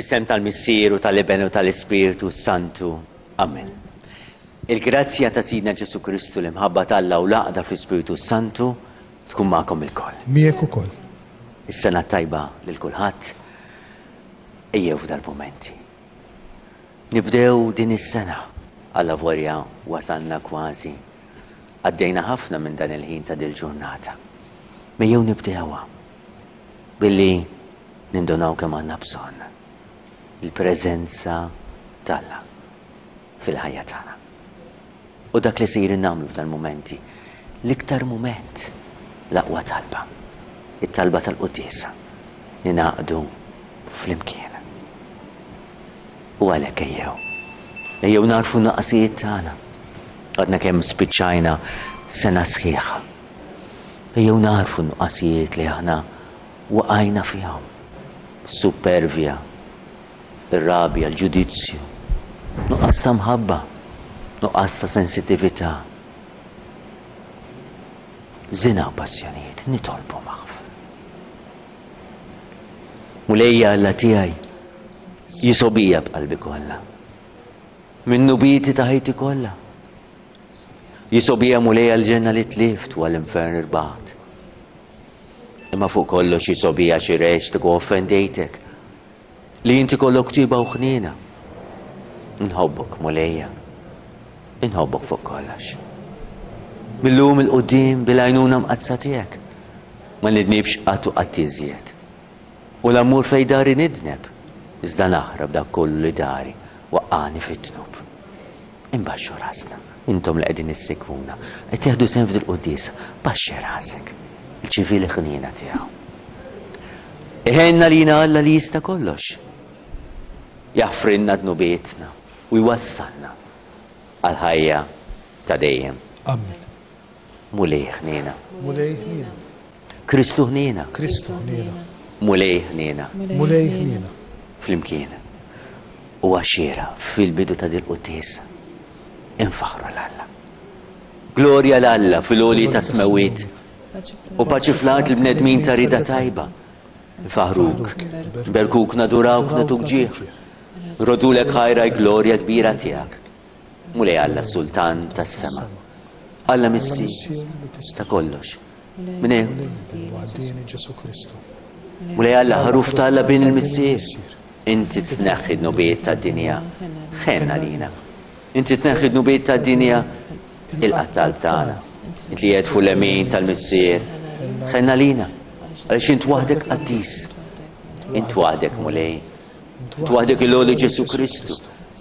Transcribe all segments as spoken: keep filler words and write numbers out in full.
Fl-isem tal-Missier u tal-Iben u tal-Ispirtu Santu. Amen. Il-grazzja ta' Sidna Ġesu Kristu, l-imħabba t'Alla u l-għaqda fl-Ispirtu Santu tkun magħkom ilkoll. Miegħek ukoll. Is-sena tajba lil kulħadd. Ejjew f'dal-momenti. Nibdew din is-sena. Alla vorja wasalna kważi. Għaddejna ħafna minn dan il-ħin ta' dil-ġurnata. Ejjew nibdewha billi nindunaw kemm għandna bżonn il-preżenza t'Alla fil-ħajja tagħna. U dak li sejrin nagħmlu f'dal-mumenti, l-iktar mument, l-aqwa talba, it-talba tal-quddiesa, ninaqdu flimkien. U għalhekk ejjew. Ejjew nagħrfu n-nuqqasijiet tagħna. Għadna kemm spiċċajna sena sħiħa. Ejjew nagħrfu n-nuqqasijiet li aħna waqajna fihom. Supervja, ir-rabja, l-ġudizzju, nuqqas ta' mħabba, nuqqas ta' sensitività. Żina u passjonijiet, nitolbu maħfra. Mulejja Alla tiegħi, jisgħobija b'qalbi kollha. Minn dnubieti ta' ħajti kollha. Jisgħobija Mulejja l-ġenna li tlift u għall-infern irbaħt. Imma fuq kollox jisgħobija xi reġtek u offendejtek. Li inti kollok tiba u ħniena. Nħobbok, Mulejja. Inħobbok fuq kollox. Mil-lum 'il quddiem bil-għajnuna mqaddsa tiegħek. Ma nidnibx qatt u qatt iżjed. U la mmur fejn dari nidneb, iżda naħrab dak kollu li dari waqqani fit-dnub. Imbaxxu rasna, intom li qegħdin issegwuna, qed tieħdu sehem f'dil-quddiesa, baxxi rasek, irċievi l-ħniena tiegħu. Iħenna lina Alla li jista' kollox. Jaħfrilna dnubietna u jwassalna għal ħajja ta' dejjem. Amen. Mulej ħniena. Mulej ħniena. Kristu ħniena. Kristu ħniena. Mulej ħniena. Mulej ħniena. Flimkien. U għaxira fil-bidu ta' dil-quddiesa. Infaħru 'l Alla. Glorja 'l Alla fil-għoli tas-smewwiet. U paċi fl-art il-bnedmin ta' rida tajba. Nfaħruk, nberkuk, nadurawk, nagħtuk ġieħ. Nroddulek ħajr għall-glorja kbira tiegħek. Mulej Alla, Sultan tas-sema. Alla Missier ta' kollox. Minn Ġesu Kristu. Mulej Alla, ħaruf ta' Alla bin il-Missier. Inti tneħħi dnubiet tad-dinja. Ħenn għalina. Inti tneħħi dnubiet tad-dinja. Ilqa' t-talb tagħna. Inti li qiegħed fuq l-lemin tal-Missier. Ħenn għalina. Għaliex int waħdek qaddis. Int waħdek Mulej. Int waħdek il-għoli Ġesu Kristu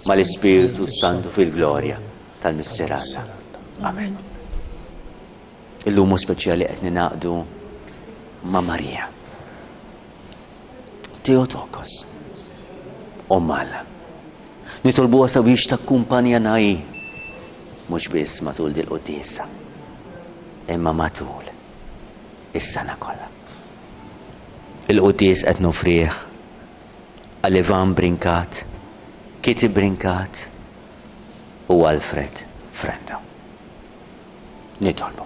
mal-Ispirtu Santu fil-glorja tal-Missier Alla. Amen. Illum speċjali qed ninaqdu ma' Marija. Theotokos. Omm Alla. Nitolbuha sabiex takkumpanjana hi mhux biss matul dil-quddiesa, imma matul is-sena kollha. Il-quddies qed nofrih għal Ivan Brincat, Kitty Brincat u Alfred Frendo. Nitolbu.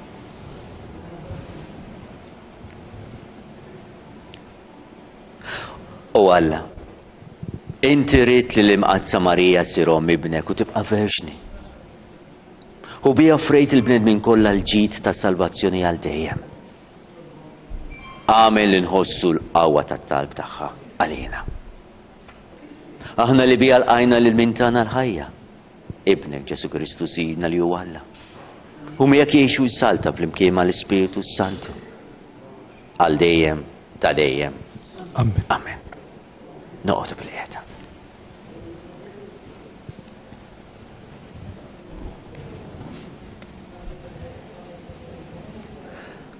O Alla, inti ridt li l-Imqaddsa Marija ssir omm ibnek u tibqa' verġni. U biha offrejt il-bnedmin kollha l-ġid ta' salvazzjoni għal dejjem. Agħmel li nħossu l-qawwa tat-talb tagħha għalina. Aħna li biha lqajna lil min tana l-ħajja, ibnek Ġesu Kristu Sidna li hu Alla. U miegħek jgħix u jsaltan flimkien mal-Ispirtu Santu. Għal dejjem ta' dejjem. Amen. Amen. Noqogħdu bil-qiegħda.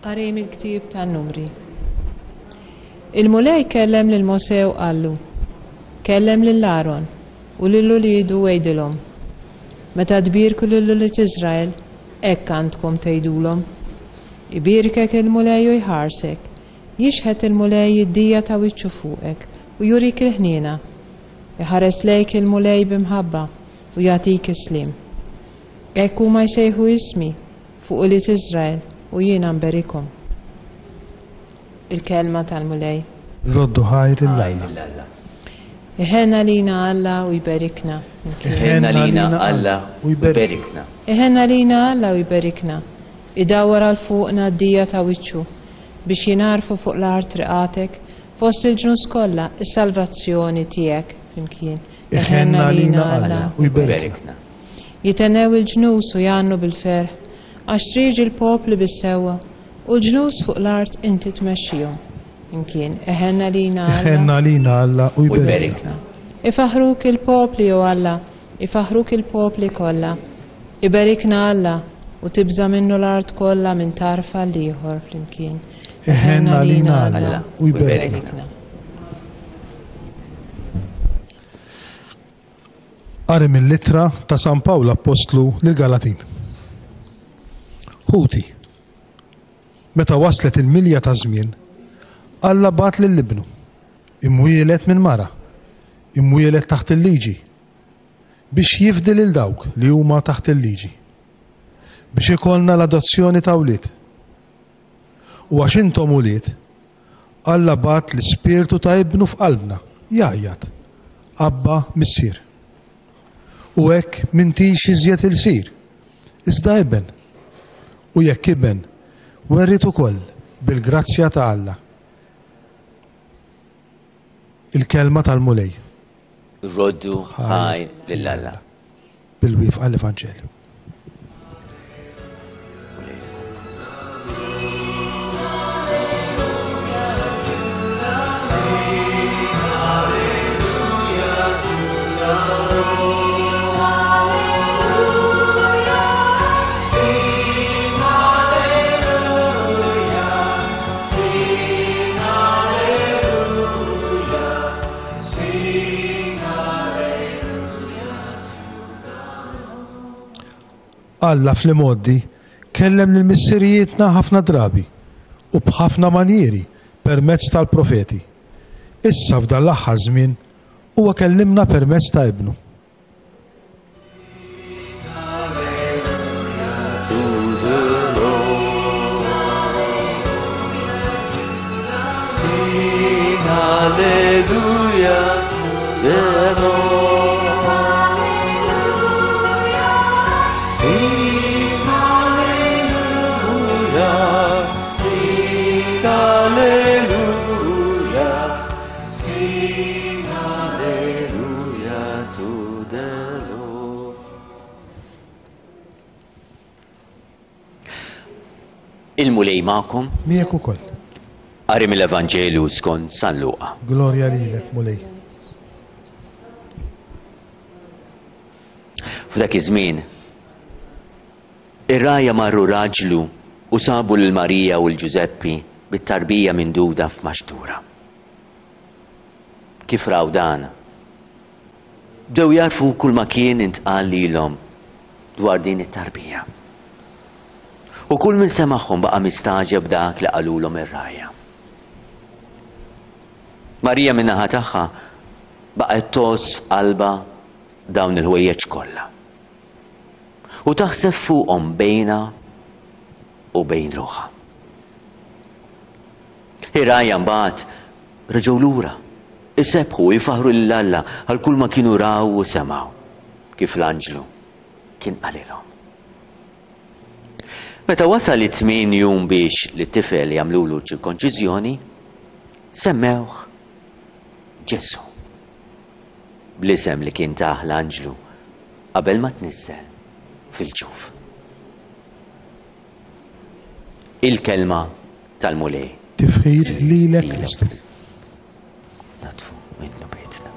Qari mill-ktieb tan-Numri. Il-Mulej kellem lil Mosè u qallu: Kellem lil Aron u lil uliedu u għidilhom: Meta tbierku lil ulied Iżrael, hekk għandkom tgħidulhom: Ibierkek il-Mulej u jħarsek, jixħet il-Mulej id-dija ta' wiċċu fuqek u jurik il-ħniena. Iħares lejk il-Mulej b'imħabba u jagħtik is-sliem. Hekk huma jsejħu ismi fuq ulied Iżrael u jiena nberikhom. Il-kelma tal-Mulej. Roddu ħajr lil Alla. Iħenna lina Alla u jberikna. Iħenna lina Alla u jberikna. Iħenna lina Alla u jberikna. Idawwar għal fuqna d-dija ta' wiċċu biex jinarfu fuq l-art triqatek fost il-ġnus kollha is-salvazzjoni tiegħek flimkien. Iħenna lina Alla u jberikna. Jitennew il-ġnus u jgħannu bil-ferħ għax triġi l-popli bis-sewwa u l-ġnus fuq l-art inti tmexxihom. Imkien, eħenna lina Alla. Eħenna lina Alla u jberikna. Ifaħruk il-popli, o Alla, ifaħruk il-popli kollha. Iberikna Alla u tibża minnu l-art kollha minn tarf għal ieħor flimkien. Eħenna lina Alla u jberikna. Qari mill-ittra ta' San Pawl Appostlu lill-Galatin. Ħuti, meta waslet il-milja ta' żmien, Alla bagħat lil ibnu, imwielet minn mara, imwielet taħt il-liġi, biex jifdi lil dawk li huma taħt il-liġi, biex ikollna l-adozzjoni ta' wlied. U għax intom ulied, Alla bagħat l-ispirtu ta' ibnu f'qalbna, jgħajjat, Abba Missier. U hekk m'intix iżjed ilsir, iżda iben. U jekk iben, werrit ukoll bil-grazzja ta' Alla. Il-kelma tal-Mulej. Roddu ħaj lil Alla. Bil-wifqa l-Evanġelju. Alla fl-imgħoddi kellem lil missirijietna ħafna drabi u b'ħafna manjieri permezz tal-profeti. Issa f'dan l-aħħar żmien huwa kellimna permezz ta' ibnu. Hallelujah to the Lord. Sing hallelujah, sing hallelujah, sing hallelujah to the Lord. Il-Mulej magħkom. Miegħek ukoll. Qari mill-Evanġelju skont San Luqa. Glorja lilek, Mulej. F'dak iż-żmien ir-rgħajja marru raġlu u sabu lil Marija u l-Ġużeppi bit-tarbija minduda f'maxtura. Kif raw dan, bdew jarfu kull ma kien intqal lilhom dwar din it-tarbija. U kull min semagħhom baqa' mistaġeb dak li qalulhom ir-rgħajja. Marija min-naħa tagħha baqgħet tgħożż f'qalbha dawn il-ħwejjeġ kollha u taħseb fuqhom bejna u bejn ruħha. Ir-rgħajja mbagħad reġgħu lura, isebħu u jfaħru lil Alla għal kull ma kienu raw u semgħu kif l-anġlu kien qalilhom. Meta wasal it-tmien jum biex lit-tifel jagħmlulu ċirkonċiżjoni, semmewh Ġesù, bl-isem li kien tah l-anġlu qabel ma tnissel fil-ġuf. Il-kelma tal-Mulej. Tifħir lilek Kristu. Natfu minn dnubietna.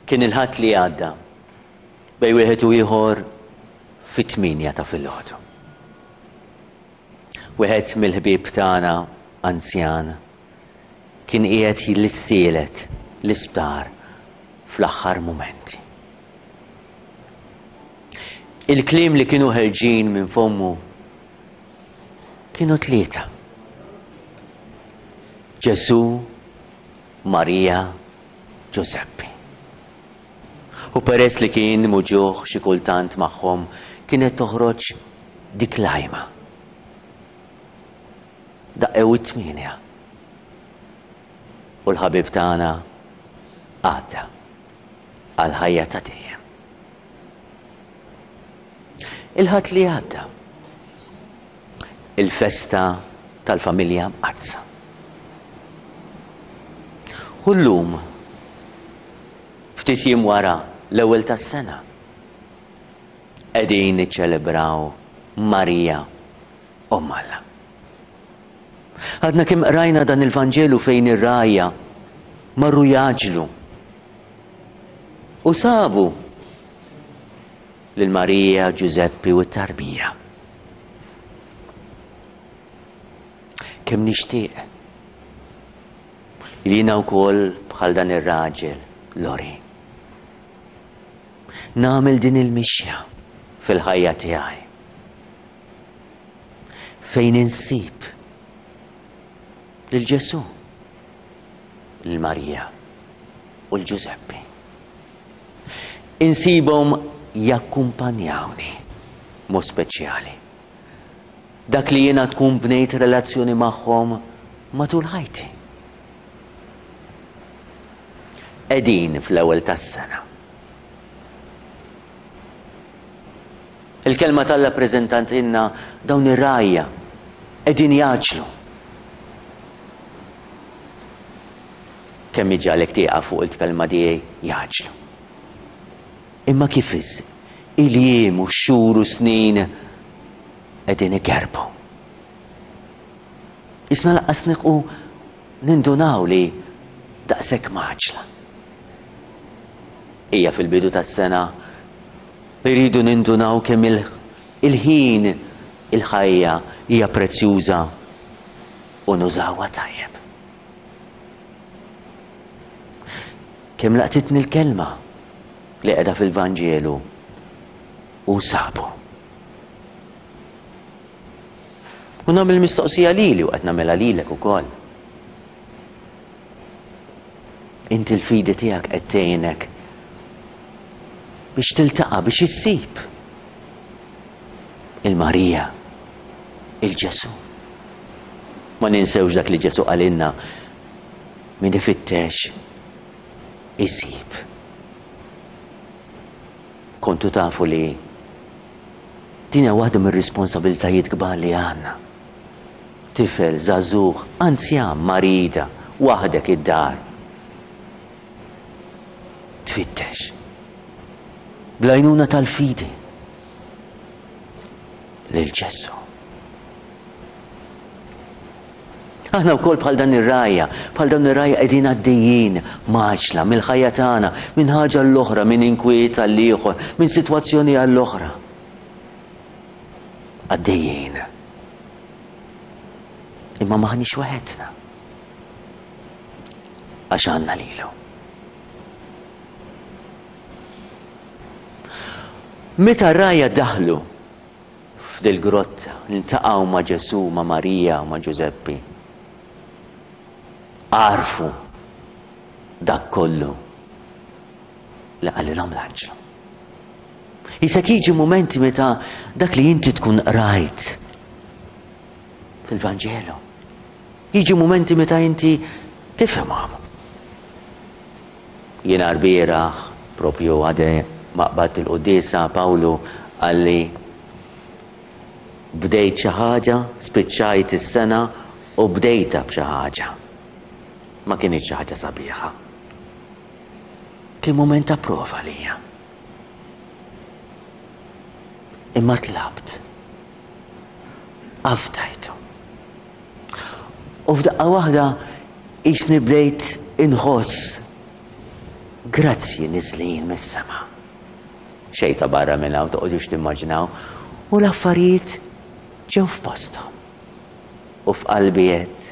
Kien il-Ħadd li għadda, bejn wieħed u ieħor fit-tmienja ta' filgħodu. Wieħed mill-ħbieb tagħna anzjan kien qiegħed jissielet l-isptar fl-aħħar mumenti. Il-kliem li kienu ħerġin minn fommu kienu tlieta. Ġesù, Marija, Ġużeppi. U peress li kien muġugħ xi kultant magħhom kienet toħroġ dik l-għajma. Daqqew it-tmienja. U l-ħabib tagħna għadda għal ħajja ta' dejjem. Il-Ħadd li għadda, il-festa tal-familja Mqaddsa. U llum, ftit jiem wara l-ewwel tas-sena, qegħdin niċċelebraw Marija Omm Alla. Għadna kemm qrajna dan il-Vanġelu fejn ir-rgħajja marru jgħaġġlu u sabu lil Marija, Ġużeppi u t-tarbija. Kemm nixtieq li jiena wkoll bħal dan ir-raġel Lori nagħmel din il-mixja fil-ħajja tiegħi fejn insib lil Ġesù, lil Marija u l Ġużeppi. Insibhom jakkumpanjawni mod speċjali. Dak li jiena tkun bnejt relazzjoni magħhom matul ħajti. Qegħdin fl-ewwel tas-sena. Il-kelma t'Alla ppreżentatilna dawn ir-rgħajja qegħdin jgħaġġlu. Kemm iġagħlek tieqaf fuq il-kelma tiegħi jgħaġġlu. Imma kif is il-jiem u x-xhur u snin qegħdin ikerbu. Isna laqqas nieqfu nindunaw li daqshekk maġla. Hija fil-bidu tas-sena irridu nindunaw kemm il-ħin il-ħajja hija prezzjuża u nużawha tajjeb. Kemm laqtitni l-kelma li qiegħda fil-Vanġelu u sabu. U nagħmel mistoqsija lili u qed nagħmilha lilek ukoll. Inti l-fidi tiegħek qed tgħinek biex tiltaqa' biex issib il-Marija, il-Ġesù. Ma ninsewx dak li Ġesù qalilna, min ifittex isib. Kontu tafu li din hija waħda mir-responsabiltajiet kbar li għandna. Tifel, żagħżugħ, anzjan, marida, waħdek id-dar. Tfittex. Bl-għajnuna tal-fidi lil Ġesù. Aħna wkoll bħal dan ir-rgħajja, bħal dawn ir-rgħajja qegħdin għaddejjin maġla mill-ħajja tagħna, minn ħaġa l-oħra, minn inkwiet għal ieħor, minn sitwazzjoni għall-oħra. Għaddejjin. Imma maħniex waħedna. Għax għandna lilu. Meta r-rgħajja daħlu f'dil grotta, iltaqgħu ma' Ġesù, ma' Marija u ma' Ġużeppi, għarfu dak kollu li qalilhom l-anġlu. Isek jiġi mumenti meta dak li inti tkun qrajt fil-Vanġelu. Jiġi mumenti meta inti tifhimhom. Jiena lbieraħ propju għade maqbad il-quddiesa Pawlu qalli bdejt xi ħaġa, spiċċajt is-sena u bdejta b'xi ħaġa. Ma kinitx xi ħaġa sabiħa. Kien mument ta' prova lija. Imma tlabt. Afdajtu. U f'daqqa waħda qisni bdejt inħoss Grazzji niżlin mis-sema. Xejn ta' barra minn hawn, toqgħodux timmaġinaw, u l-affarijiet ġew f'posthom. U f'qalbi għedt,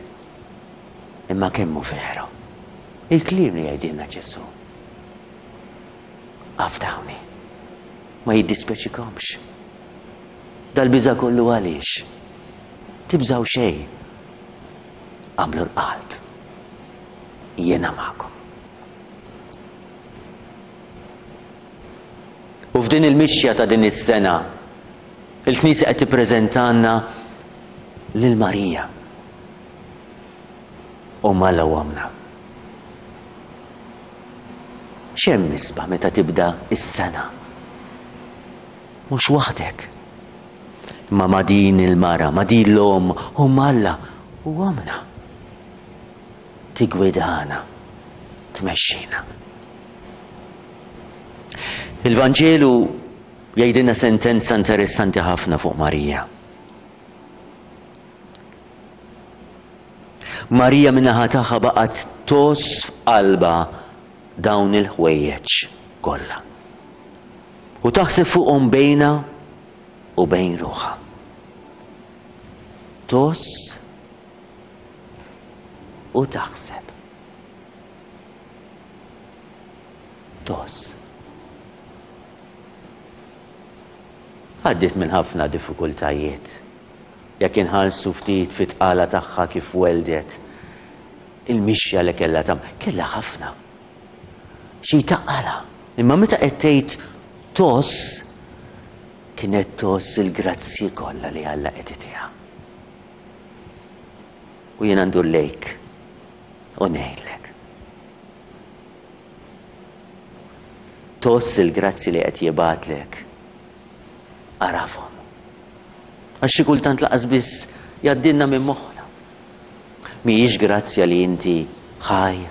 imma kemm hu veru il-kliem li jgħidilna Ġesù. Afdawni, ma jiddispjaċikomx. Dal-biża' kollu għaliex? Tibżgħu xejn. Għamlu l-qalb. Jiena magħkom. U f'din il-mixja ta' din is-sena, il-Knisja qed tippreżentanna lil Marija. U Alla u Ommna. X'hemm isbaħ meta tibda s-sena? Mhux waħdek. Imma ma' din il-mara, ma' din l-omm, omm Alla u ommna. Tigwidana, tmexxina. Il-Vanġelu jgħidilna sentenza interessanti ħafna fuq Marija. Marija min-naħa tagħha baqgħet tgħożż f'qalbha dawn il-ħwejjeġ kollha. U taħseb fuqhom bejnha u bejn ruħha. Tgħożż u taħseb. Tgħożż. Għaddiet minn ħafna diffikultajiet. Jekk inħarsu ftit fit-tqala tagħha kif weldet, il-mixja li kellha tagħmel, kellha ħafna. Xi taqala. Imma meta qed tgħid tgħożż, kienet tgħożż il-grazzji kollha li Alla qed itiha. U jiena ndur lejk u ngħidlek. Tgħożż il-grazzji li qed jibgħatlek. Arafhom. Għax xi kultant laqas biss jgħaddilna minn moħħna. Mhijiex grazzja li inti ħaj.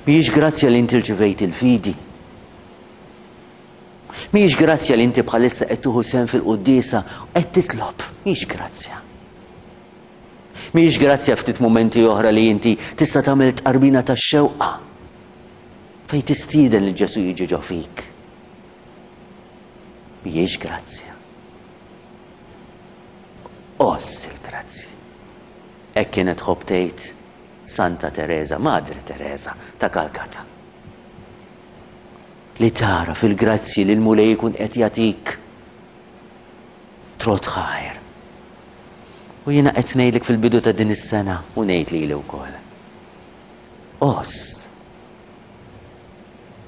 Mhijiex grazzja li inti rċivejt il-fidi. Mhijiex grazzja li inti bħalissa qed tieħu sehem fil-quddiesa u qed titlob. Mhijiex grazzja. Mhijiex grazzja ftit mumenti oħra li inti tista' tagħmel tqarbina tax-xewqa fejn tistieden lil Ġesù jiġi ġo fik. Mhijiex grazzja. Għożż il-grazzji. Hekk kienet tħobb tgħid Santa Tereża, Madre Tereża ta' Calcutta. Li tara fil-grazzji li l-Mulej ikun qed jagħtik trott ħajr. U jiena qed ngħidlek fil-bidu ta' din is-sena u ngħid lili wkoll. Għożż.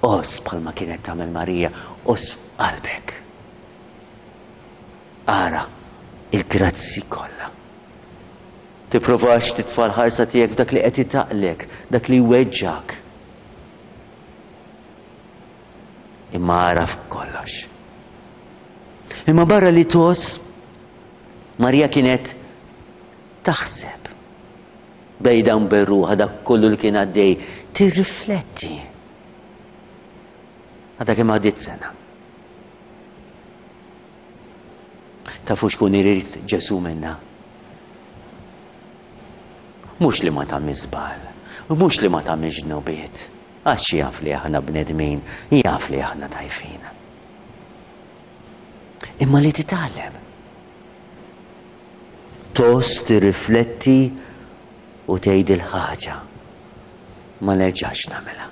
Għożż bħalma kienet tagħmel Marija, għożż f'qalbek. Ara il-grazzi kollha. Tipprovax titfa' l-ħarsa tiegħek f'dak li qed itaqlek, dak li jweġġak. Imma ara f'kollox. Imma barra li tgħożż, Marija kienet taħseb bejda u bejn ruħha dak kollu li kien għaddej, tirrifletti. Għadha kemm għaddiet sena. Tafu x'kun irid Ġesù minna? Mhux li ma tagħmilx żball, mhux li ma tagħmilx dnubiet, għax jaf li aħna bnedmin, jaf li aħna dgħajfin. Imma li titgħallem. Tgħożż, tirrifletti u tgħid il-ħaġa ma nerġax nagħmilha.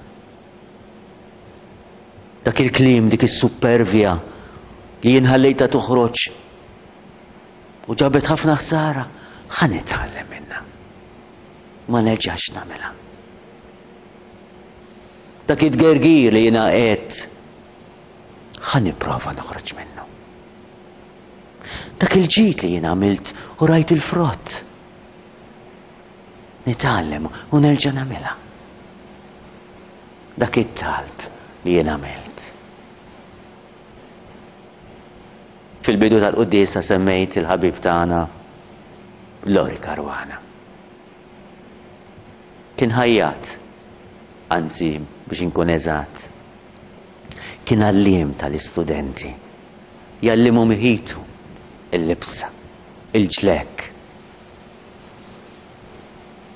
Dak il-kliem, dik is-supervja li jien ħallejtha toħroġ u ġabet ħafna ħsara, ħa nitgħallem minnha. Ma nerġax nagħmilha. Dak it-tgergir li jiena għedt, ħa nipprova noħroġ minnu. Dak il-ġid li jiena għamilt u rajt il-frott. Nitgħallem u nerġa' nagħmilha. Dak it-talb li jien għamilt. Fil-bidu tal-quddiesa semmejt il-ħabib tagħna Lori Caruana. Kien ħajjat, anzi biex inkun eżatt, kien għalliem tal-istudenti. Jgħallimhom iħitu il-libsa, il-ġlek.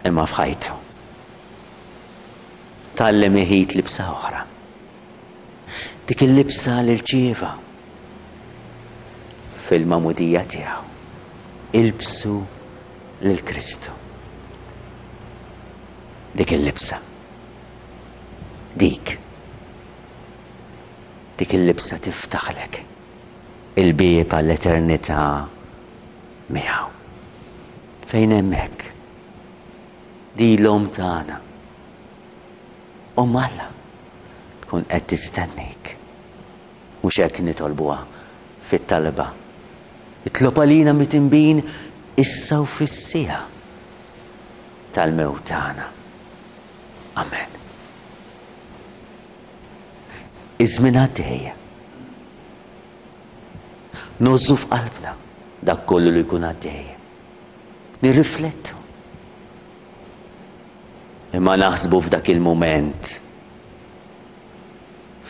Imma f'ħajtu Tgħallem iħit libsa oħra. Dik il-libsa li rċieva fil-magħmudija tiegħu. Ilbsu lil Kristu. Dik il-libsa. Dik. Dik il-libsa tiftaħlek il-bieb għall-eternità miegħu. Fejn hemmhekk? Di l-om tagħna. Omm Alla tkun qed tistennik. Mhux hekk nitolbuha fit-talba. Itlob għalina mitinbin issa u fis-siegħa tal-mewt tagħna. Amen. Iż-żmien għaddej. Nożżu f'qalbna dak kollu li jkun għaddej. Nirriflettu. Imma naħsbu f'dak il-mument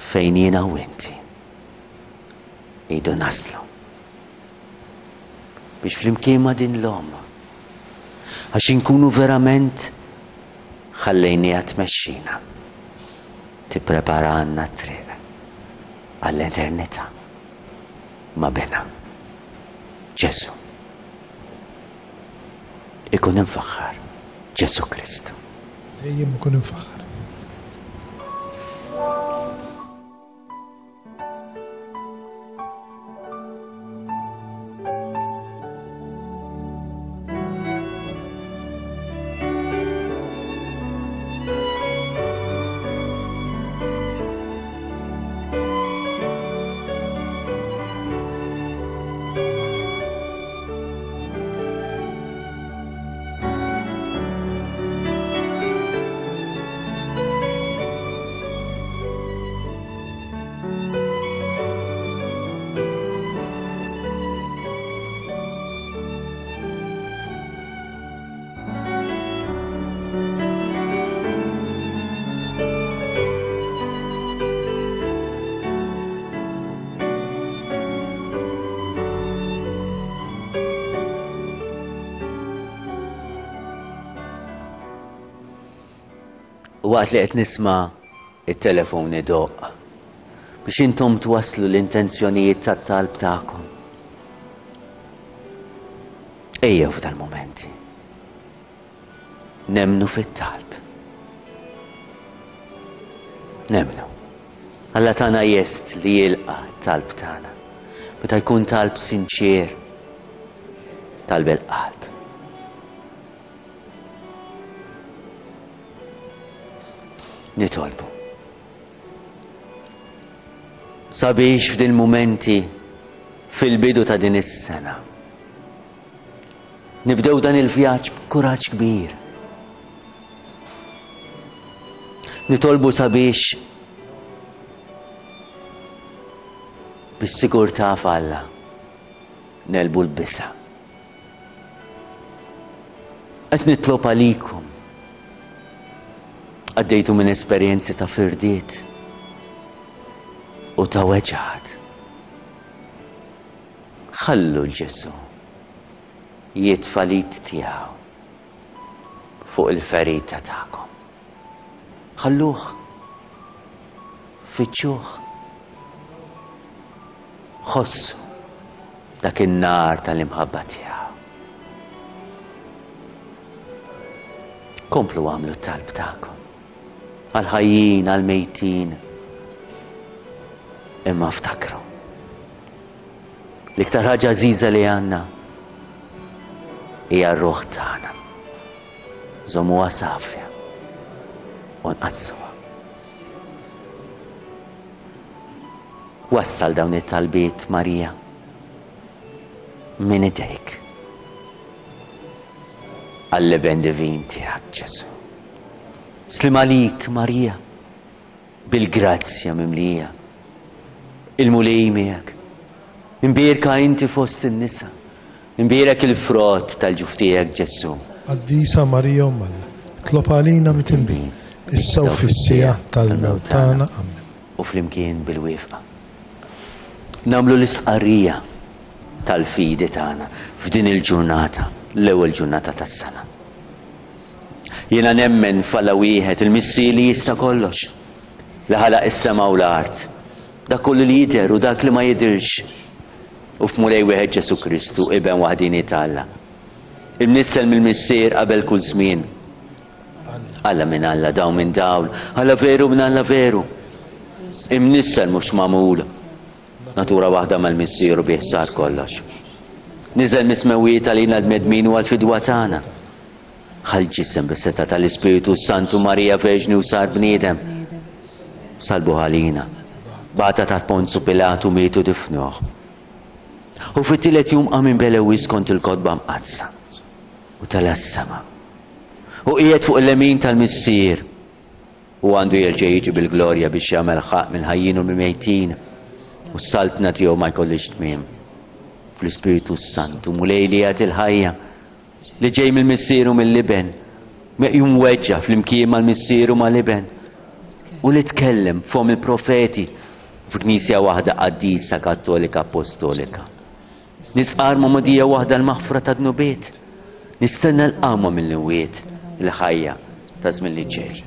fejn jiena u inti idu naslu. Biex flimkien ma' din l-omm, għax inkunu verament ħallejniha tmexxina, tippreparalna t-triq għall-eternità ma' bina Ġesù. Ikun imfaħħar Ġesù Kristu. Dejjem ikun imfaħħar. Waqt li qed nisma' it-telefon idoqq biex intom twasslu l-intenzjonijiet tat-talb tagħkom. Ejjew f'dal-mumenti. Nemmnu fit-talb. Nemmnu. Alla tagħna jest li jilqa' t-talb tagħna. Meta jkun talb sinċier, talb il-qalb. Nitolbu. Sabiex f'din mumenti fil-bidu ta' din is-sena nibdew dan il-vjaġġ b'kuraġġ kbir. Nitolbu sabiex bis-sigurtà f'Alla nelbu l-bisa. Qed nitlob għalikom. Għaddejtu minn esperjenzi ta' firdiet u ta' weġgħat. Ħallu l-Ġesù jitfa' l-id tiegħu fuq il-ferita tagħkom. Ħalluh, fittxuh, ħossu dak in-nar tal-imħabba tiegħu. Komplu għamlu t-talb tagħkom għal-ħajjin, għal-mejtin. Imma ftakru. L-iktar ħaġa għażiża li għandna hija r-ruħ tagħna. Żommuha safja u nqaddsuha. Wassal dawn it-talbiet, Marija, minn idejk għall-Iben divin tiegħek Ġesù. Slim għalik, Marija, bil-grazzja mimlija. Il-Mulej miegħek. Imbierka inti fost in-nisa. Imbierek il-frott tal-ġuf tiegħek Ġesù. Qaddisa Marija Omm Alla, itlob għalina mitinbin, issa u fis-siegħa tal-mewt tagħna. Amen. U flimkien bil-wifqa nagħmlu l-istqarrija tal-fidi tagħna f'din il-ġurnata, l-ewwel ġurnata tas-sena. Jiena nemmen f'Alla wieħed, il-Missier li jista' kollox, li ħalaq is-sema u l-art, dak kollu li jidher u dak li ma jidhirx, u f'Mulej wieħed Ġesu Kristu, Iben waħdini t'Alla, imnissel mill-Missier qabel kull żmien. Alla minn Alla, dawl minn dawl, Alla veru minn Alla veru, imnissel mhux magħmul, natura waħda mal-Missier u bih sar kollox. Niżel mis-smewwiet għalina l-bnedmin u għall-fidwa tagħna. Ħa l-ġisem bis-setgħa tal-Ispiritu Santu Marija Verġni u sar bniedem. Salbu għalina. Bata taħt Ponzu Pilatu mietu difnuh. U fit-tielet jum qam minn Belewis kont il-kotba mqaddsa u tela' s-sema. U qiegħed fuq il-lemin tal-Missier u għandu jerġa' jiġi bil-glorja biex jagħmel ħaqq mill-ħajjin u mill-mejtin, u s-saltna tiegħu ma jkollix tmiem. Fl-Ispiritu Santu, Mulej li jagħti l-ħajja, li ġej mill-Missier u mill-Iben, meqjum weġġa flimkien mal-Missier u mal-Iben, u li tkellem fom il-profeti f'Knisja waħda qaddisa Kattolika Apostolika. Nisqar magħmudija waħda l-maħfra ta' dnubiet, nistenna l-qawma mill-imwiet, il-ħajja ta' żmien li ġej.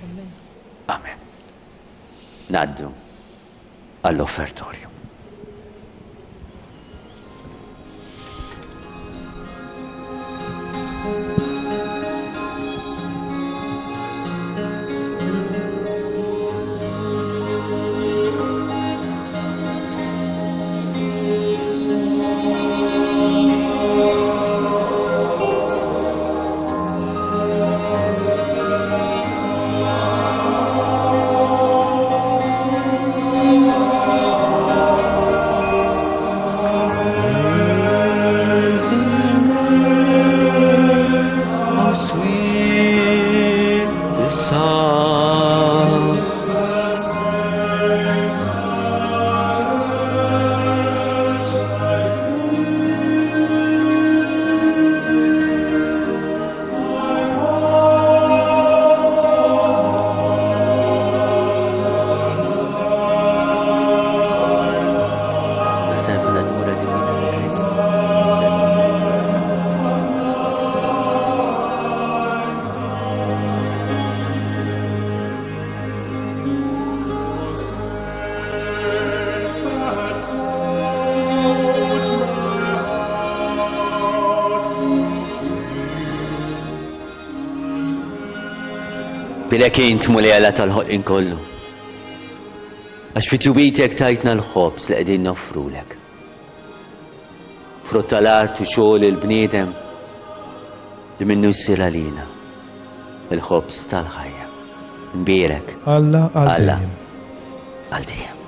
Amen. Ngħaddu għall-offertorju. Bilek int Mulej Alla tal-ħolqien kollu, għax fi tjubitek tajtna l-ħobż li qegħdin noffrulek. Frott tal-art u xogħol il-bniedem li minnu jsir għalina il-ħobż tal-ħajja. Nbierek Alla għal Alla dejjem. għal dejjem.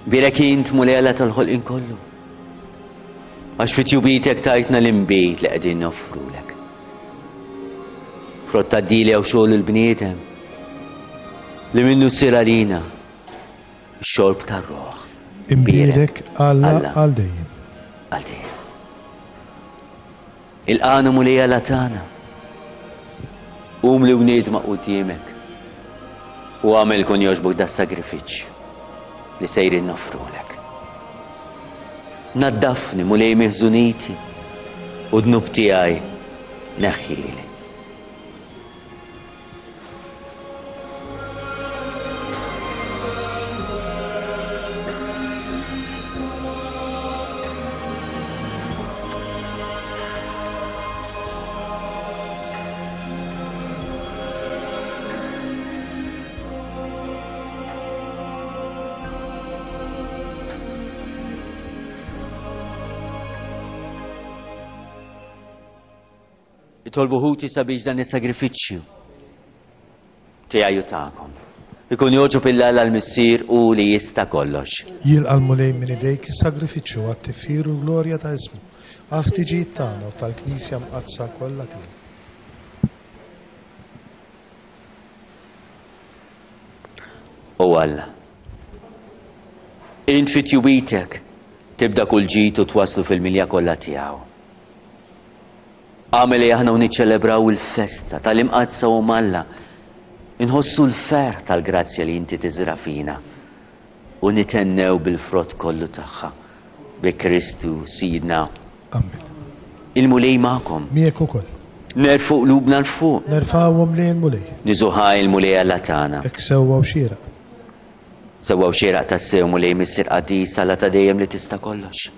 Bilek int Mulej Alla tal-ħolqien kollu, għax fi tjubitek tajtna l-inbid li qegħdin noffrulek. Frott tad-dilja u xogħol il-bniedem li minnu ssir għalina x-xorb tar-ruħ. Imbierek Alla Alla għal dejjem. għal dejjem. Il-qanu Mulej Alla tagħna, qum li wniedma quddiemek u għamel kun jogħġbok das-sagrifiċċju li sejrin noffrulek. Naddafni Mulej miħżuniti u dnub tiegħi neħħili. Itolbu ħuti sabiex dan is-sagrifiċċju tiegħi u tagħkom ikun jogħġob lil Alla l-Missier u li jista' kollox. Jilqa' l-Mulej minn idejk is-sagrifiċċju għat-tifħir u l-glorja ta' ismu, għal-ħtiġijiet tagħna u tal-Knisja mqaddsa kollha tiegħu. O Alla, int fi tjubitek tibda kull ġid u twaslu fil-milja kollha tiegħu. Għamel li aħna u niċċelebraw il-festa tal-imqaddsa u Alla, inħossu l-ferħ tal-grazzja li inti tiżra fina u nitennew bil-frott kollu tagħha bi Kristu Sidna. Amen. Il-Mulej magħkom. Miegħek ukoll. Nerfgħu qlubna 'l fuq. Nerfgħuhom lejn il-Mulej. Niżuħaj il-Mulej Alla tagħna. Hekk sewwa u xieraq. Sewwa u xieraq tassew Mulej Missier qaddis Alla ta' dejjem li tista' kollox.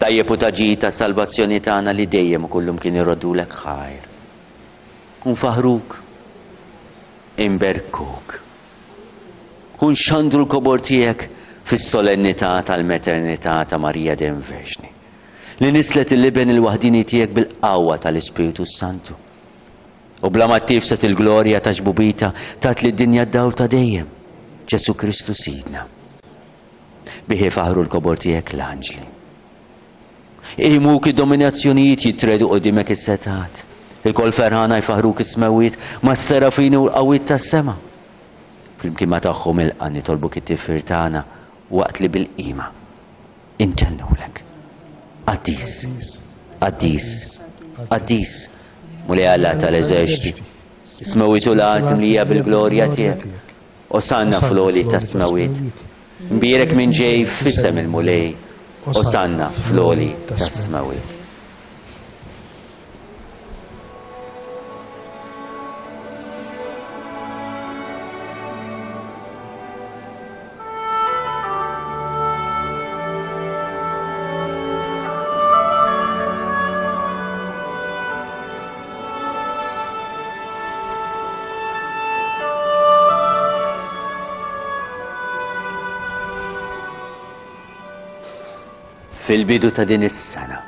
Tajjeb u ta' ġid ta' salvazzjoni tagħna li dejjem u kullum kien irroddulek ħajr. U nfaħruk, imberkuk. U nxandru l-kobor tiegħek fis-solennità tal-maternità ta' Marija dejjem Verġni, li nislet il-liben il-waħdini tiegħek bil-qawwa tal-Ispiritu Santu. U bla ma tifset il-glorja ta' xbubita tat lid-dinja d-dawl ta' dejjem, Ġesu Kristu Sidna. Bihi faħru l-kobor tiegħek l-anġli. Imuk id-dominazzjonijiet jitredu qudiemek is-setat. Il-kol ferħana jfaħruk is-smewwiet mas-serafini u l-qawwiet tas-sema. Flimkien ma tagħhom ilqa' nitolbuk it-tifħir tagħna waqt li bil-qima intennulek. Qaddis, qaddis, qaddis, Mulej Alla tal-eżerċti, is-smewwiet u l-art mlija bil-glorja tiegħek. Osanna fl-għoli tas-smewwiet. Mbierek min ġej f'isem il-Mulej. Osanna fl-għoli tas-smewwiet. Fil-bidu ta' din is-sena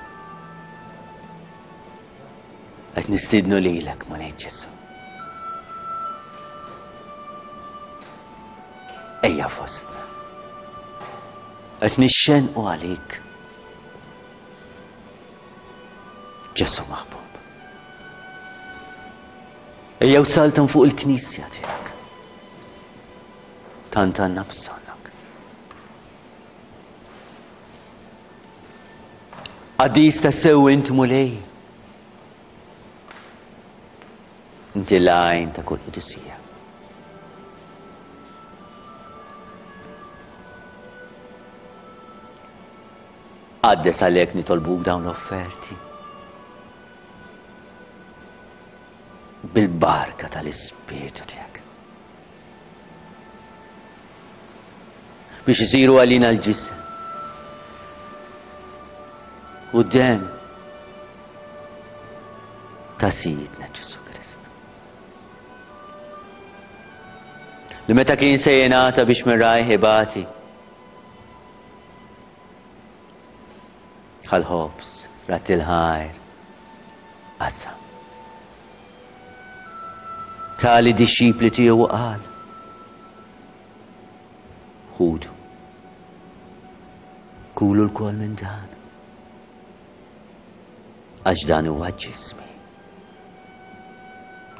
qed nistiednu lilek, Mulej Ġesu. Ejja fostna. Qed nixxenqu għalik. Ġesu maħbub. Ejja u saltan fuq il-knisja tiegħek. Tant għandna bżonnok. Qaddis tassew int Mulej. Inti l-għajn ta' kull qdusija. Qaddes għalhekk nitolbuk dawn l-offerti. Bil-barka tal-Ispirtu tiegħek. Biex isiru għalina l-ġisem u d-demm ta' Sidna Ġesu Kristu. Li meta kien se jingħata biex minn rajh ibati, ħal-ħobż, rat il-ħajr, qasam. Tali dixxipli tiegħu qal, ħudu, kulu lkoll minn dan, għax dan huwa ġismi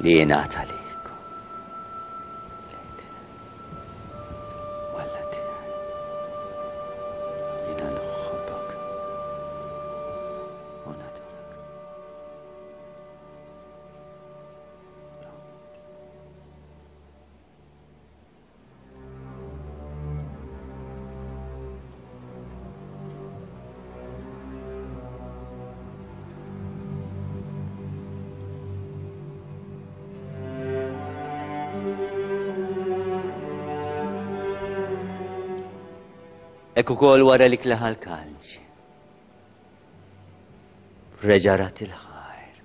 li jingħata lilkom. Walla tiegħi, jiena nħobbok u nadurak. Hekk ukoll wara li klaħa l-kalċi, reġa' rat il-ħajr.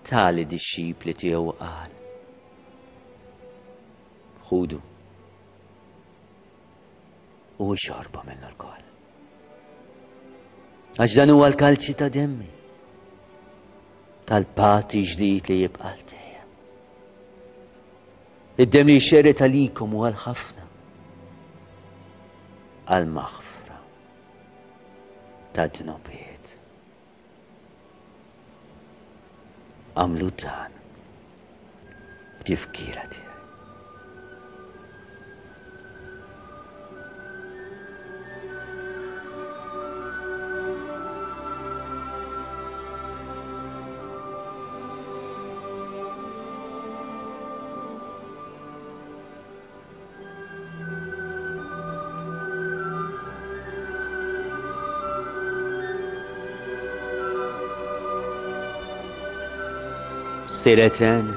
Tali dixxipli tiegħu qal, ħudu u xorbu minnu lkoll. Għax dan huwa l-kalċi ta' demmi, tal-patti ġdid li jibqa' għal dejjem. Id-demm li jxerred għalikom u għal ħafna, għal-maħfra ta' dnubiet. Għamlu dan b'tifkira tiegħi. Sireten,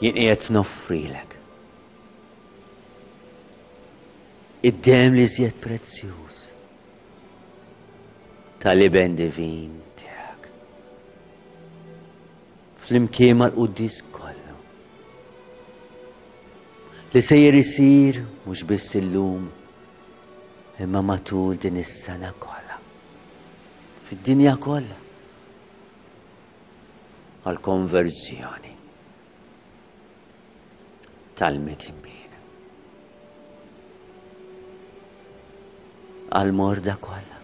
jien qiegħed noffrilek id-demm li żjed prezzjuż tal-Iben divin tiegħek, flimkien mal-quddis kollu li sejjer isir mhux biss illum imma matul din is-sena kollha, fid-dinja kollha, għall-konverżjoni tal-midinbin, għall-morda kollha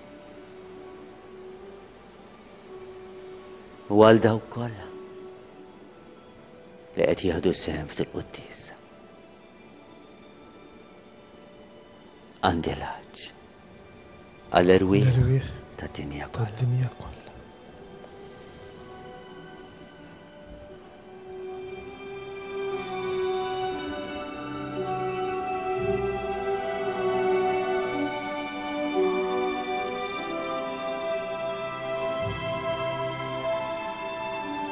u għal dawk kollha li qed jieħdu sehem fil-quddiesa. Għandi l-għatx għall-erwieħ tad-dinja kollha.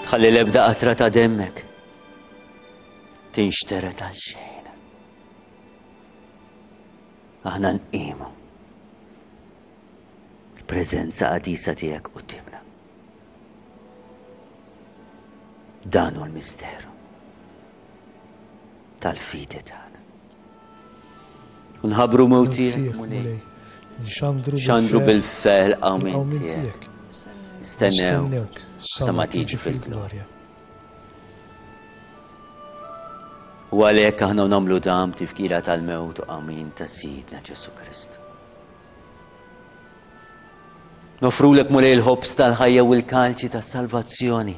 Tħalli l-ebda qatra ta' demmek tinxteret għal xejn. Aħna nqimu il-preżenza qadisa tiegħek quddiemna. Dan hu l-misteru tal-fidi tagħna. U nħabbru mewt tiegħek, Mulej. Xandru bil-ferħ qawmien tiegħek. Nistennewk sa ma tiġi fil-glorja. U għalhekk aħna nagħmlu dan b'tifkira tal-mewt u qawmien ta' Sidna Ġesù Kristu. Nofrulek, Mulej, il-ħobż tal-ħajja u l-kalċi tas-salvazzjoni.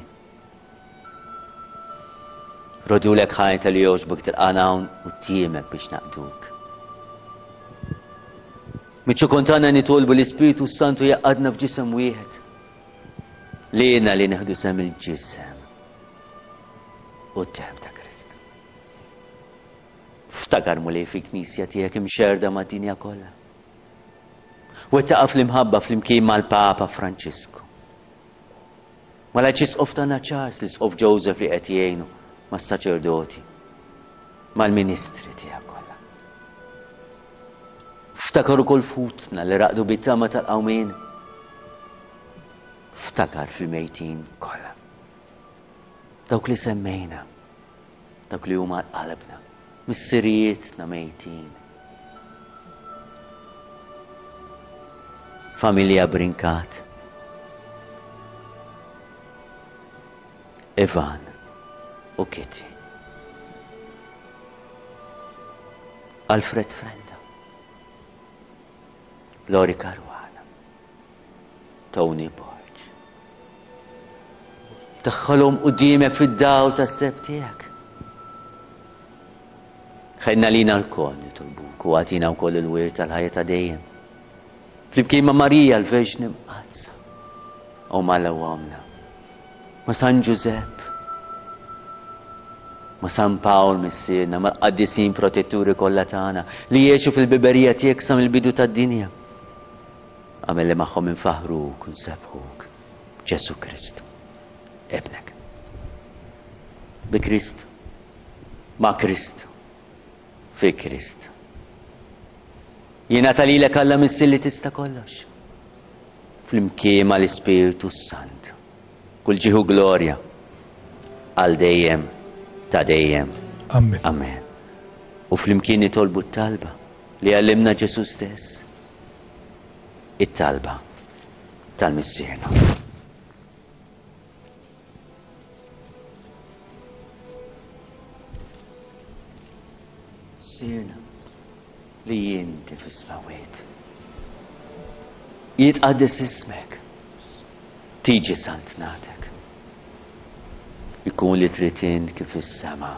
Rodulek ħajta li jogħġbok tilqana hawn u tiemek biex naqduk. Miċċu kontana nitolbu l-Ispiritu Santu jaqadna f'ġisem wieħed. Lina li neħdu sem il-ġisem u d-demm ta' Kristu. Ftakar, Mulej, fil-Knisja tiegħek imxerda mad-dinja kollha. U taqaf l-imħabba flimkien mal-Papa Franċisku, mal-Arċisqof tagħna Charles, l-Isqof Joseph li qed jgħinu, mas-saċerdoti, mal-ministri tiegħek kollha. Ftakar ukoll futna li raqdu bit-tama tal-qawmien. Ftakar fil-mejtin kollha, dawk li semmejna, dawk li huma qalbna, missirijietna mejtin. Familja Brincat, Ivan u Kitty, Alfred Frenda, Lori Caruana, Tony Borg. Daħħalhom qudiemek fid-dawl tas-seb tiegħek. Ħenna lina lkoll nitolbuk u agħtina wkoll il-wirt tal-ħajja ta' dejjem. Flimkien ma' Marija l-Verġni Mqaddsa u mal-Għomna, ma' San Ġużepp, ma' San Pawl missierna, mal-qaddisin protetturi kollha tagħna li jgħixu fil-biberija tiegħek sa mill-bidu tad-dinja. Għamel li magħhom infaħruk u nsebbħuk, Ġesù Kristu, Ibnek. Bi Kristu, ma' Kristu, fi Kristu. Jingħata lilek Alla Missier li tista' kollox, flimkien mal-Ispirtu Santu, kull ġieħu glorja għal dejjem ta' dejjem. Amen. Amen. U flimkien nitolbu t-talba li għallimna Ġesù stess, it-talba tal-Missierna. Missierna li inti fis-smewwiet, jitqaddes ismek, tiġi saltnatek, ikun li trid int kif fis-sema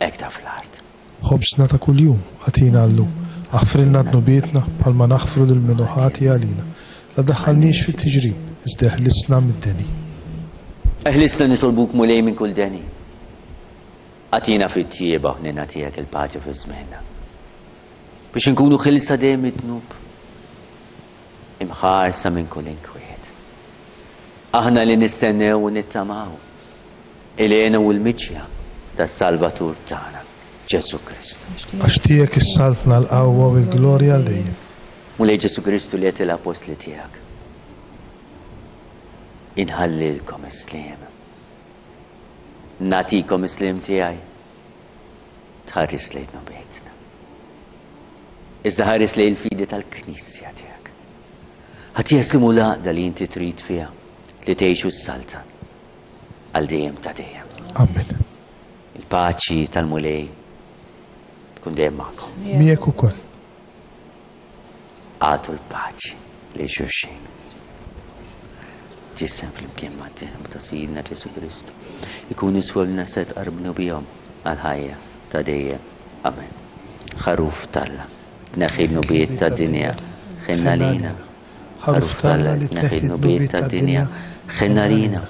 hekk ta' fl-art. Ħobżna ta' kuljum agħtina llum, aħfrilna dnubietna bħalma naħfru lil min hu ħati għalina. La daħħalniex fit-tiġrib, iżda eħlisna mid-deni. Eħlisna nitolbuk, Mulej, minn kull deni. Agħtina fit-tjieba u ħnina tiegħek il-paċi fi żmienna, biex inkunu ħilsa dejjem mid-dnub, imħarsa minn kull inkwiet. Aħna li nistennew u nittamaw Il-hena u l-miġja tas-Salvatur tagħna, Ġesù Kristu. Għax tiegħek is-saltna, l-qawwa u l-glorja għal dejjem. Mulej Ġesù Kristu li għedt lill-appostli tiegħek: Inħallilkom is-sliem. Nagħtikom is-sliem tiegħi. Tħares lejn dnubietna. Iżda ħares lejn il-fidi tal-Knisja tiegħek. Ħa jeslimu l-għaqda li inti trid fiha li tgħix u ssaltan għal dejjem ta' dejjem. Amen. Il-paċi tal-Mulej tkun dejjem magħkom. Miegħek ukoll. Agħtu l-paċi lil xulxin. Ġisem flimkien mad-demm ta' Sidna Ġesù Kristu. Ikun jiswolna se tqarbnu bihom għal-ħajja ta' dejjem. Amen. Ħaruf t'Alla, tneħħi dnubiet tad-dinja, ħenn għalina. Ħaruf t'Alla, tneħħi dnubiet tad-dinja, ħenn għalina.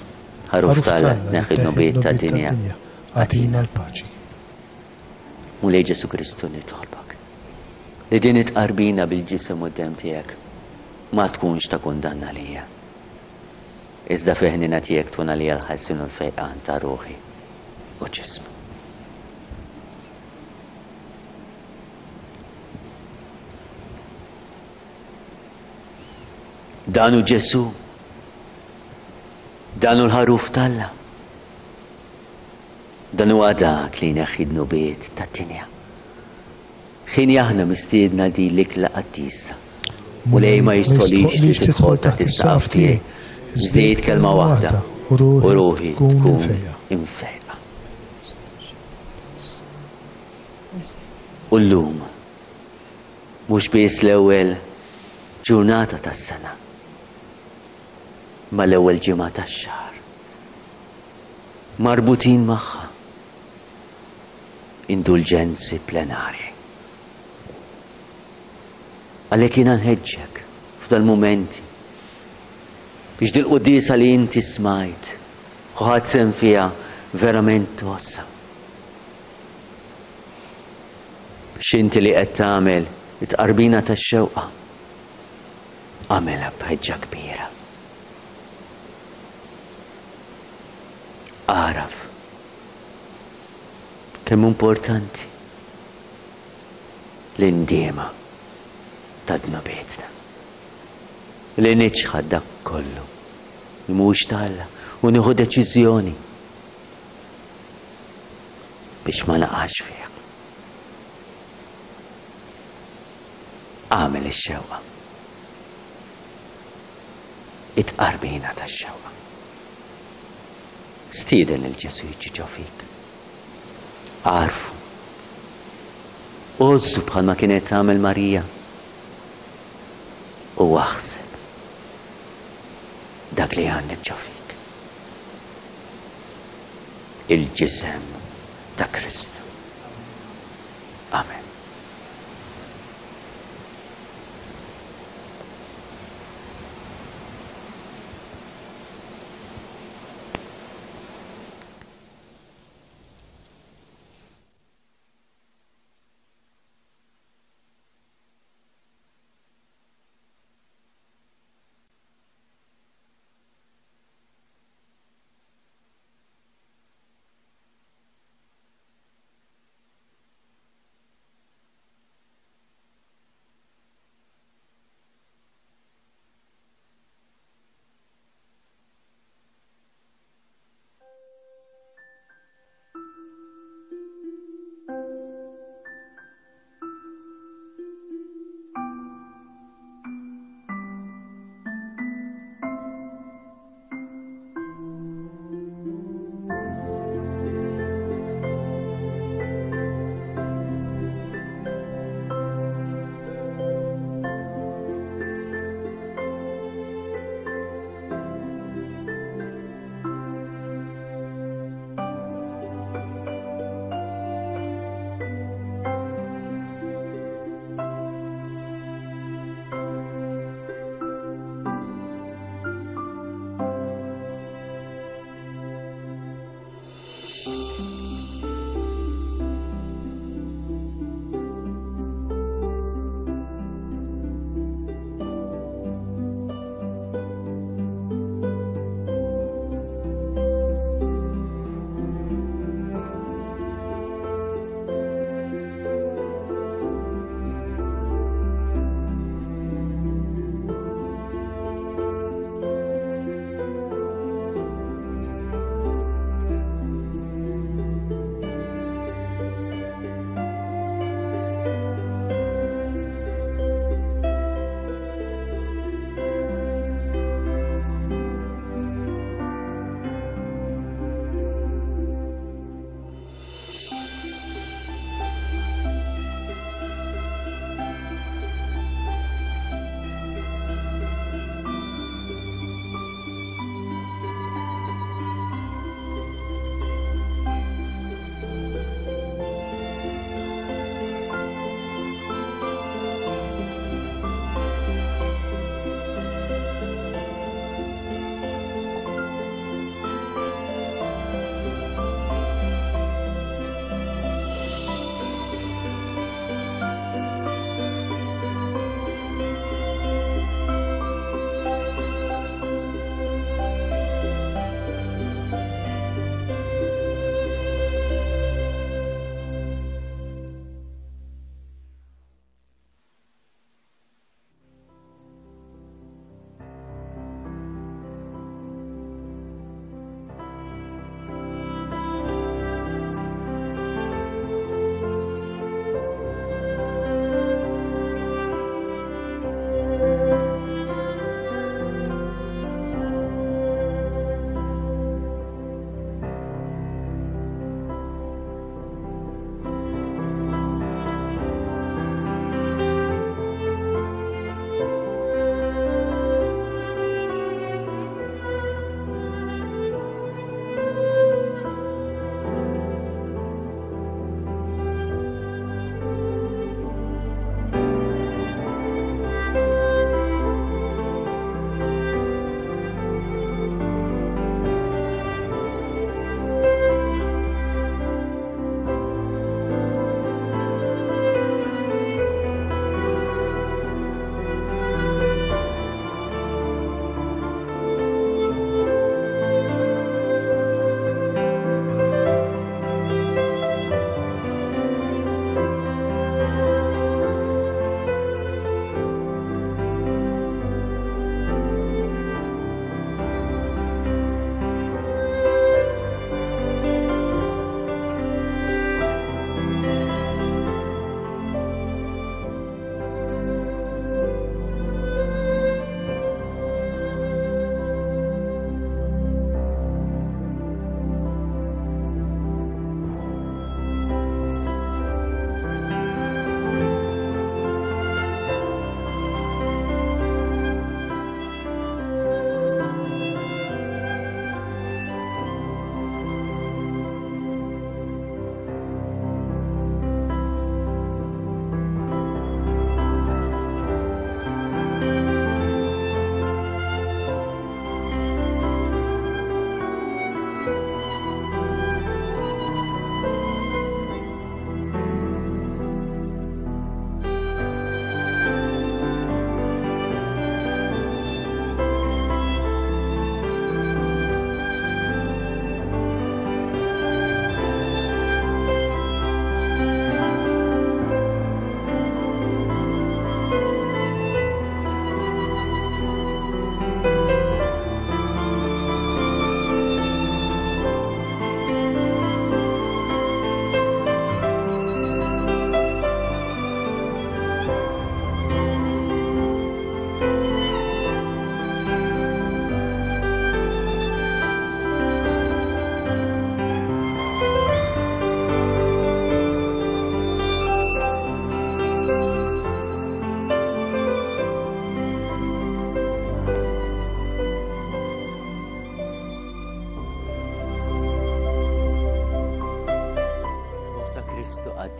Ħaruf t'Alla, tneħħi dnubiet tad-dinja, Agħtina l-paċi. Mulej Ġesù Kristu, nitolbok li din it-tqarbina bil-ġisem u d-demm tiegħek ma tkunx ta' kundanna lija. Iżda fil-ħniena tiegħek tkun għalija l-ħelsien u l-fejqan ta' ruħi u ġismi. Dan hu Ġesù. Dan hu l-ħaruf t'Alla. Dan huwa dak li jneħħi dnubiet tad-dinja. Ħin aħna mistiedna din l-ikla qaddisa. Mulej, ma jistħoqqlix li tidħol taħt is-saqaf tiegħi. Iżda għid kelma waħda u ruħi tkun imfejqa. U llum, mhux biss l-ewwel ġurnata tas-sena, ma l-ewwel ġimgħa tax-xahar. Marbutin magħha indulġenzi plenarji. Għalhekk jiena nħeġġek f'dal-mumenti biex dil-quddiesa li inti smajt u ħadt sehem fiha verament tgħożżha. Biex inti li qed tagħmel it-tqarbina tax-xewqa, agħmilha b'ħeġġa kbira. Agħraf kemm importanti l-indiema ta' dnubietna. Li niċħad dak kollu li mhuwiex t'Alla u nieħu deċiżjoni biex ma naqax fih. Agħmel ix-xewqa. It-tqarbina tax-xewqa. Stieden lil Ġesù jiġi ġo fik. Agħrfu. Għożżu bħalma kienet tagħmel Marija. U aħseb dak li għandek ġo fik. Il-ġisem ta' Kristu. Amen.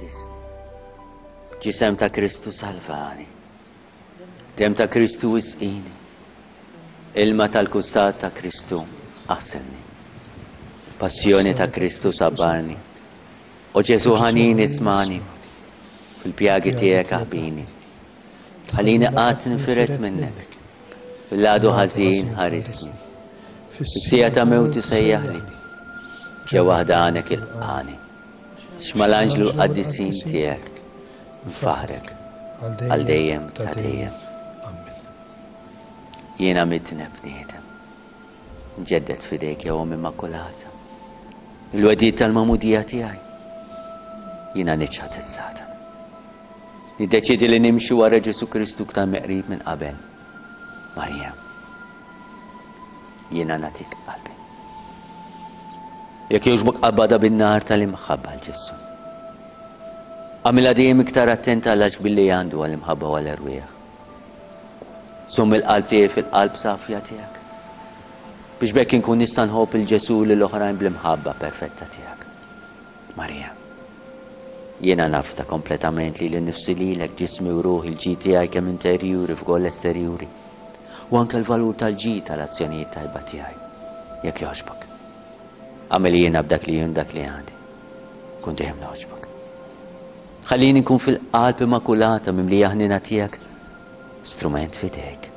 qaddisni. Ġisem ta' Kristu salvani. Dem ta' Kristu isqini. Ilma tal-kustat ta' Kristu aħsenni. Passjoni ta' Kristu sabbarni. O Ġesu ħanin ismani. Fil-pjagi tiegħek aħbini. Ħallini qatt ninfired minnek. Fil-għadu ħażin ħarisni. Fis-siegħa ta' mewti sejjaħli. Ġewwa ħdanek ilqani. X'mal-anġlu l-qaddisin tiegħek. Nfaħrek għal dejjem ta' dejjem. Jiena midneb bniedem. Nġeddet f'idejk ja Omm Immakulata. Il-wegħdiet tal-magħmudija tiegħi. Jiena niċħad is-Satan. Niddeċidi li nimxi wara Ġesu Kristu iktar meqrib minn qabel. Marija, jiena nagħtik qalbi. Jekk jogħġbok qabadha bin-nar tal-imħabba għal Ġesu. Għamilha dejjem iktar attenta għal billi għandu għall-imħabba u għall-erwieħ. Żomm il-qalb tiegħi fil-qalb safja tiegħek. Biex b'hekk inkun nista' nħobb il Ġesu lil oħrajn bl-imħabba perfetta tiegħek. Marija, jiena nafda kompletament li l-nifsi lilek ġismi u ruħi l-ġid tiegħi kemm interjuri f'gol esterjuri. U anke l-valur tal-ġid tal-azzjonijiet tajba tiegħi. Jekk jogħġbok. Għamel jiena b'dak li jien dak li għandi. Kun dejjem nogħġbok. Ħallini nkun fil-qalb immakulata mimlija ħnina tiegħek. Strument f'idejk.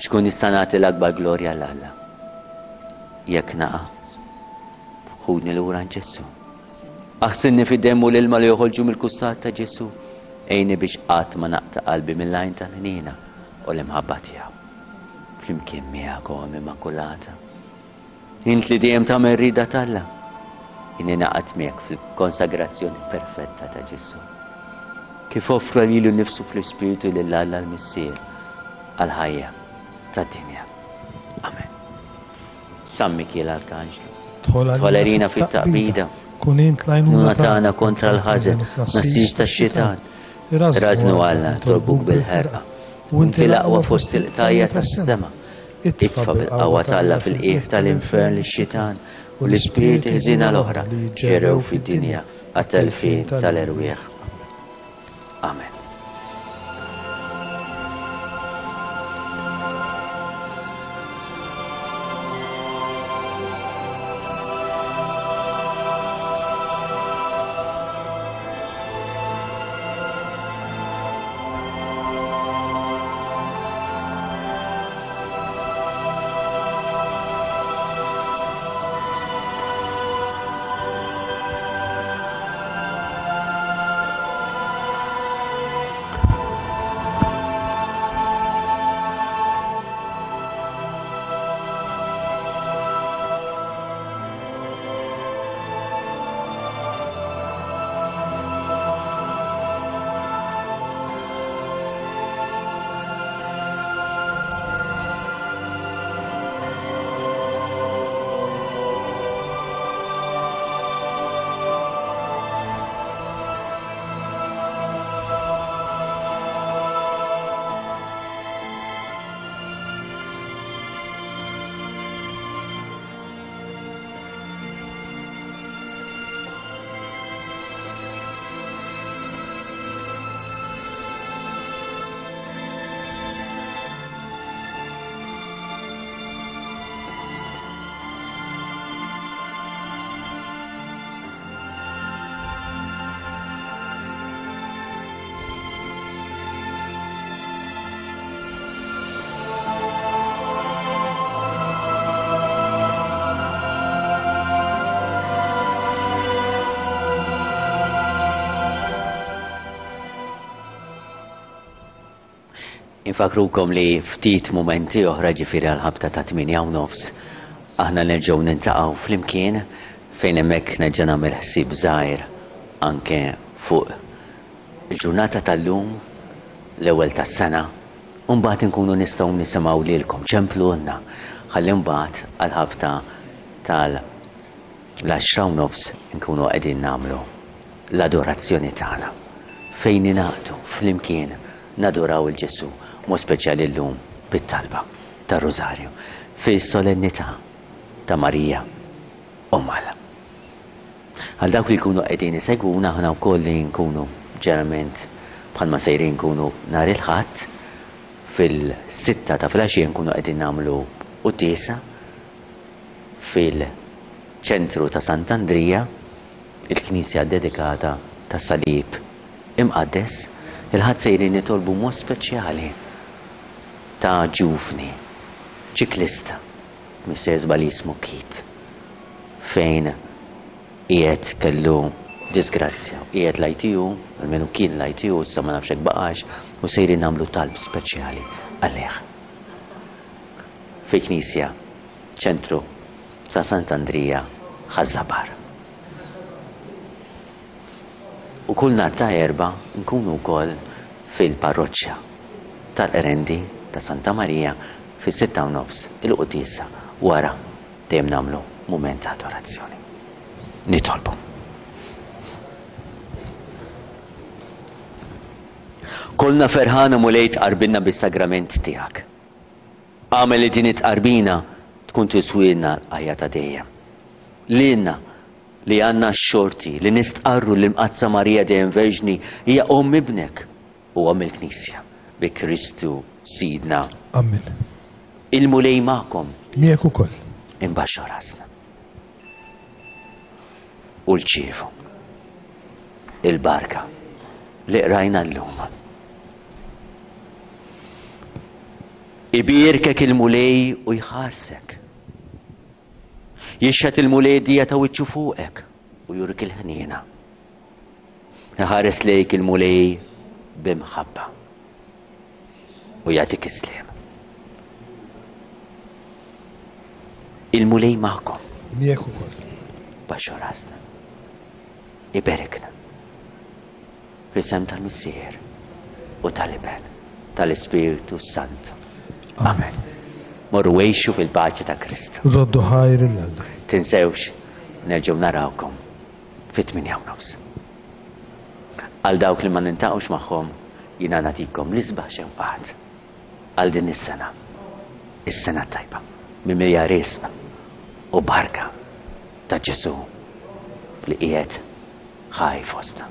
Xkun nista' nagħti l-akbar glorja 'l Alla. Jekk naqa' ħudni lura għand Ġesu. Aħsilni fid-demm u l-ilma li joħorġu mill-kustat ta' Ġesu. Għinni biex qatt ma naqta' qalbi mill-għajn tal-ħnina u l-imħabba tiegħu. Flimkien miegħek Omm Immakulata. Int li dejjem tagħmel rieda t'Alla. Jien ingħaqad miegħek fil-konsagrazzjoni perfetta ta' Ġesu. Kif offra lilu nnifsu fl-Ispirtu lil Alla l-Missier għal-ħajja tad-dinja. Amen. San Mikiel Arkanġlu, Dħol għalina fit-taqbida, Kun int l-għajnuna Nuna tagħna kontra l-ħażen, nassis tax-xitan. Rażnu Alla, nitolbuk bil-ħerqa. U inti l-aqwa fost il-qtajja tas-sema. Itfa' bil-qawwa t'Alla fil-qiegħ tal-infern lix-xitan u l-ispirti ħżiena l-oħra ġerew fid-dinja għat-telfien tal-erwieħ. Amen. Infakrukom li ftit mumenti oħra ġifieri għal-ħabta ta' tmienja u nofs aħna nerġgħu nintaqgħu flimkien fejn hemmhekk nerġa' nagħmel ħsieb żgħir anke fuq il-ġurnata tal-lum, l-ewwel tas-sena, u mbagħad inkunu nistgħu nisimgħu lilkom ċemplulna ħalli mbagħad għal-ħabta tal-għaxra u nofs nkunu qegħdin nagħmlu l-adorazzjoni tagħna fejn ningħaqdu flimkien naduraw il-Ġesu, mod speċjali llum bit-talba tar-Rużarju fis-solennità ta' Marija Omm Alla. Għal dawk li jkunu qegħdin isegwuna, aħna wkoll li nkunu ġeneralment bħalma sejrin nkunu nhar il-Ħadd fil-sitta ta' filgħaxija nkunu qegħdin nagħmlu quddiesa fil-ċentru ta' Sant'Andrija, il-knisja dedikata tas-Salib Imqaddes. Il-Ħadd sejrin nitolbu mod speċjali ta' ġuvni ċiklista, mister żball jismu Keith, fejn qiegħed kellu disgrazzja, qiegħed l-I T U, almenu kien l-I T U, issa ma nafx hekk baqax, u sejrin nagħmlu talb speċjali għalih. Fi knisja, ċentru ta' Sant'Andrija, Ħaż-Żabbar. U kull nhar ta' Erbgħa nkunu wkoll fil-parroċċa tal-Qrendi ta' Santa Marija fis-sitta u nofs il-quddiesa, wara dejjem nagħmlu mument ta' adorazzjoni. Nitolbu. Kollna ferħana, Mulej, tqarbinna bis-sagrament tiegħek. Agħmel li din it-tqarbina tkun tiswilna l-ħajja ta' dejjem. Lilna li għandna x-xorti li nistqarru li Mqaddsa Marija dejjem Verġni hija omm ibnek u omm il-Knisja, bi Kristu Sidna. Amen. Il-Mulej magħkom. Miegħek ukoll. Imbaxxu rasna. U rċievu il-barka li qrajna llum. Ibierkek il-Mulej u jħarsek. Jixħet il-Mulej dija ta' wiċċu fuqek u jurik il-ħniena. Iħares lejk il-Mulej b'imħabba u jagħtik is-sliem. Il-Mulej magħkom. Miegħek ukoll. Baxxu rasna. Iberikna. Fl-isem tal-Missier u tal-Iben tal-Ispirtu Santu. Amen. Morru għixu fil-paċi ta' Kristu. Roddu ħajr lil Alla. Tinsewx, nerġgħu narawkom fit-tmienja u nofs. Għal dawk li ma niltaqgħux magħhom, jiena nagħtikom l-isbaħ xewqat għal din is-sena. Is-sena tajba, mimlija risq u barka ta' Ġesu li qiegħed ħaj fostna.